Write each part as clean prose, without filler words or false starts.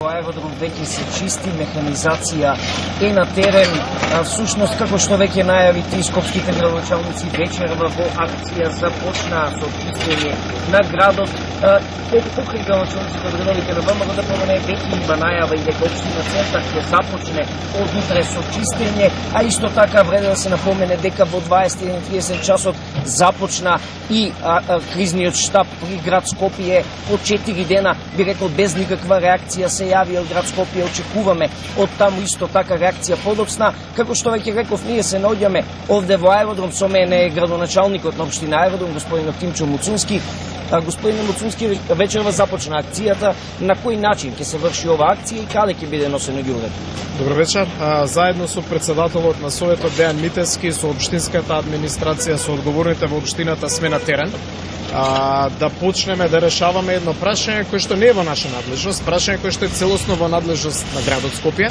Аеродром веќе се чисти, механизација е на терен. Всушност, како што веќе најави три скопските градоначалници, вечерва во акција започна со чистење на градот. Покрај градоначалниците од редовите на ВМРО да помене, веќе има најава и дека општина Центар ќе започне од утре со чистење, а исто така вреди да се напомене дека во 21:30 часот започна и кризниот штаб при град Скопје. По 4 дена, би рекол, без никаква реакција се јави од град Скопје. Очекуваме од таму исто така реакција подоцна. Како што веќе реков, ние се наоѓаме овде во аеродром, со мене е градоначалникот на општина Аеродром, господин Тимчо Муцунски. Господин Муцунски, вечерва започна акцијата. На кој начин ќе се врши ова акција и каде ќе биде носено ѓубрето? Добро вечер. Заедно со председателот на Советот Дејан Митевски, со општинската администрација, со одговорните во општината сме на терен. Да почнеме да решаваме едно прашање кој што не е во наша надлежност, прашање кој што е целосно во надлежност на градот Скопје,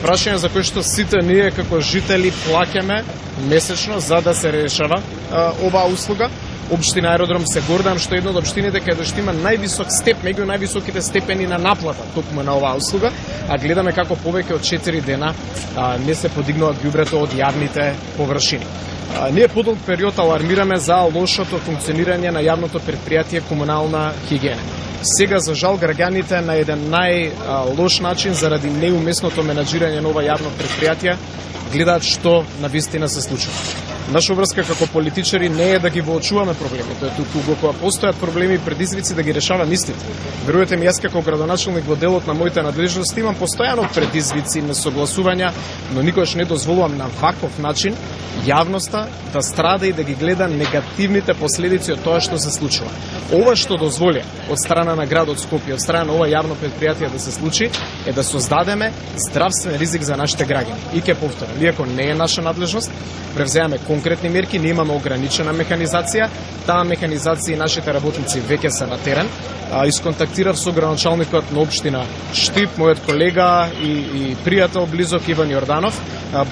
прашање за кој што сите ние како жители плаќаме месечно за да се решава оваа услуга. Општина Аеродром се гордам што е една од општините каде што има највисок степ, меѓу највисоките степени на наплата токму на оваа услуга, а гледаме како повеќе од 4 дена не се подигнува ѓубрето од јавните површини. Ние подолг период алармираме за лошото функционирање на јавното предпријатие Комунална хигиена. Сега, за жал, граѓаните на еден најлош начин, заради неуместното менаџирање на ова јавно предпријатие, гледаат што навистина се случува. Наша врска како политичари не е да ги воочуваме проблемите, туку кога постојат проблеми и предизвици да ги решаваме истите. Верувате ми, јас како градоначалник во делот на моите надлежности имам постојано предизвици, несогласувања, но никогаш не дозволувам на ваков начин јавноста да страда и да ги гледа негативните последици од тоа што се случува. Ова што дозволи од страна на градот Скопје, од страна на ова јавно предпријатие да се случи, е да создадеме здравствен ризик за нашите граѓани. И ќе повторам, иако не е наша надлежност, превземаме конкретни мерки, не имаме ограничена механизација. Таа механизација и нашите работници веќе се на терен. Исконтактирав со градоначалникот на општина Штип, мојот колега и пријател близок Иван Јорданов.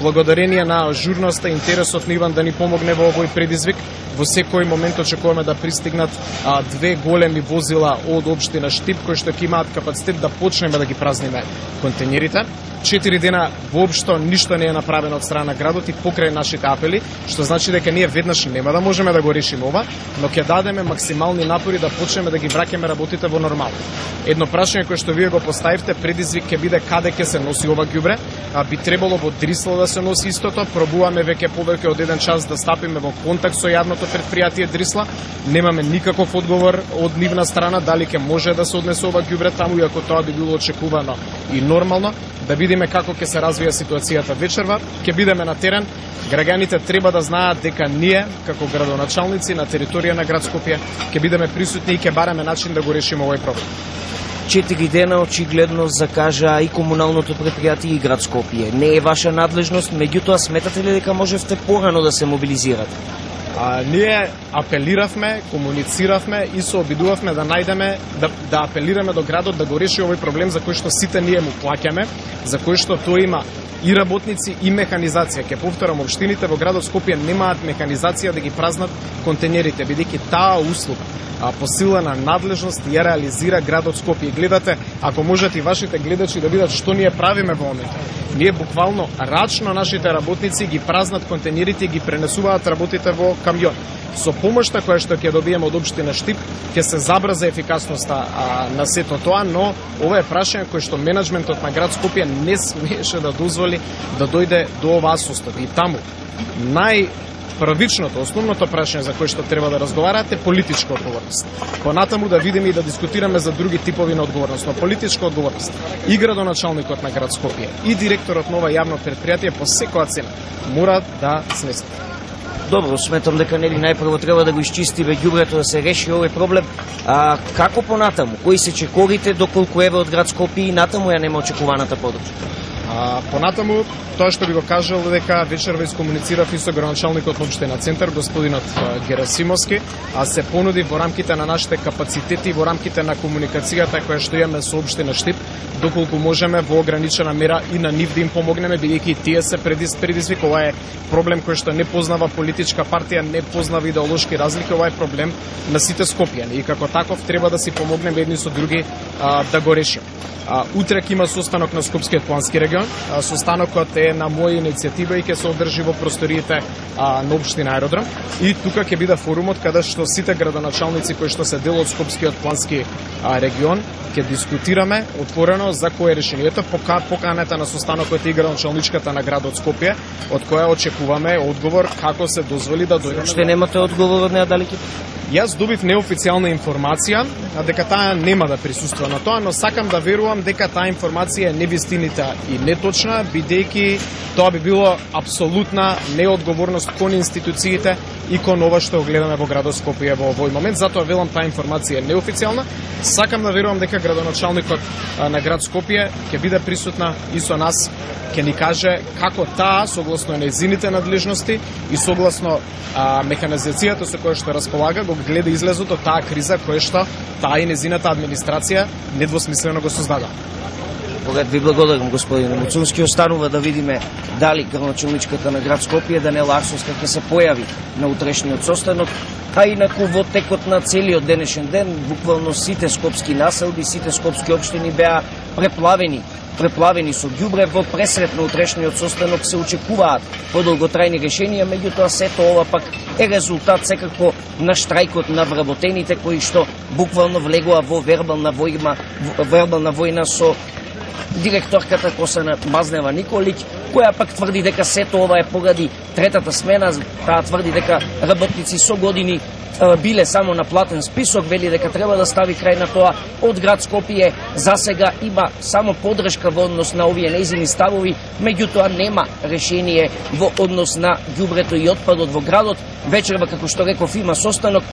Благодарение на ажурноста и интересот на Иван да ни помогне во овој предизвик, во секој момент очекуваме да пристигнат 2 големи возила од општина Штип, кои што ќе имаат капацитет да почнеме да ги празниме контејнерите. 4 дена воопшто ништо не е направено од страна на градот и покрај нашите апели, што значи дека ние веднаш нема да можеме да го решиме ова, но ќе дадеме максимални напори да почнеме да ги враќаме работите во нормално. Едно прашање кое што вие го поставивте, предизвик ќе биде каде ќе се носи ова ѓубре. Би требало во Дрисла да се носи истото. Пробуваме веќе повеќе од 1 час да стапиме во контакт со јавното предпријатие Дрисла. Немаме никаков одговор од нивна страна дали ќе може да се однесе ова ѓубре таму, иако тоа би било очекувано и нормално. Да видиме како ќе се развија ситуацијата вечерва. Ќе бидеме на терен. Граѓаните треба да знаат дека ние, како градоначалници на територија на град Скопје, ќе бидеме присутни и ќе бараме начин да го решиме овој проблем. 4 дена очигледно закажа и комуналното предпријатие и град Скопје. Не е ваша надлежност, меѓутоа сметате ли дека можевте порано да се мобилизирате? Ние апелиравме, комунициравме и се обидувавме да најдеме, да апелираме до градот да го реши овој проблем за кој што сите ние му плаќаме, за кој што тој има и работници и механизација. Ке повторам, општините во градот Скопје немаат механизација да ги празнат контејнерите, бидејќи таа услуга по сила на надлежност ја реализира градот Скопје. Гледате, ако можете и вашите гледачи да видат што ние правиме во моментот. Ние буквално рачно нашите работници ги празнат контејнерите и ги пренесуваат работите во камион. Со помошта која што ќе добиеме од општина Штип, ќе се забрза ефикасноста на сето тоа, но ова е прашање кој што менеджментот на град Скопје не смееше да дозволи да дојде до оваа состојба. И таму првичното, основното прашање за кое што треба да разговарате е политичка одговорност. Понатаму да видиме и да дискутираме за други типови на одговорност, но политичка одговорност и градоначалникот на град Скопје и директорот на ова јавно предпријатие по секоја цена мора да снесат. Добро, сметам дека нели најпрво треба да го изчистиме ѓубрето, да се реши овој проблем. Како понатаму? Кои се чекорите, доколку еве од град Скопје и натаму ја нема очекуваната поддршка? Понатаму, тоа што би го кажал дека вечерва искомуницирав и со градоначалникот на општина Центар, господинот Герасимовски, а се понуди во рамките на нашите капацитети, во рамките на комуникацијата која што имаме со општина Штип, доколку можеме во ограничена мера и на нив да им помогнеме, бидејќи тие се предизвик. Ова е проблем кој што не познава политичка партија, не познава идеолошки разлики, ова е проблем на сите скопјани и како таков треба да си помогнеме едни со други да го решиме. Утре ќе има состанок на Скопскиот плански регион. Состанокот е на моја иницијатива и ќе се одржи во просториите на општина Аеродром. И тука ќе биде форумот каде што сите градоначалници кои што се дел од Скопскиот плански регион ќе дискутираме отворено за кое решението. Поканата на состанокот е градоначалничката на градот Скопје, од која очекуваме одговор како се дозволи да дојдеме. Што немате одговор од неа дали ќе? Јас добив неофицијална информација дека таа нема да присуствува на тоа, но сакам да верувам дека таа информација е невистинита и неточна, бидејќи тоа би било апсолутна неодговорност кон институциите и кон ова што гледаме во градот Скопје во овој момент. Затоа велам таа информација е неофицијална. Сакам да верувам дека градоначалникот на град Скопје ќе биде присутна и со нас, ќе ни каже како таа, согласно нејзините надлежности и согласно механизацијата со која што располага, го гледа излезот од таа криза која што таа и нејзината администрација недвосмислено го создада. Ви благодарам, господин Муцунски. Останува да видиме дали градоначалничката на град Скопје, Даниела Арсовска, ќе се појави на утрешниот состанок, а инаку во текот на целиот денешен ден, буквално сите скопски населби, сите скопски општини беа преплавени со ѓубре. Во пресрет на утрешниот состанок се очекуваат подолготрајни решенија, меѓутоа сето ова пак е резултат секако на штрајкот на вработените кои што буквално влегоа во вербална војна со директорката Косана Мазнева Николиќ, која пак тврди дека сето ова е поради третата смена. Таа тврди дека работници со години биле само на платен список, вели дека треба да стави крај на тоа. Од град Скопје за сега има само поддршка во однос на овие нејзини ставови, меѓутоа нема решение во однос на ѓубрето и отпадот во градот. Вечерва, како што реков, има состанок.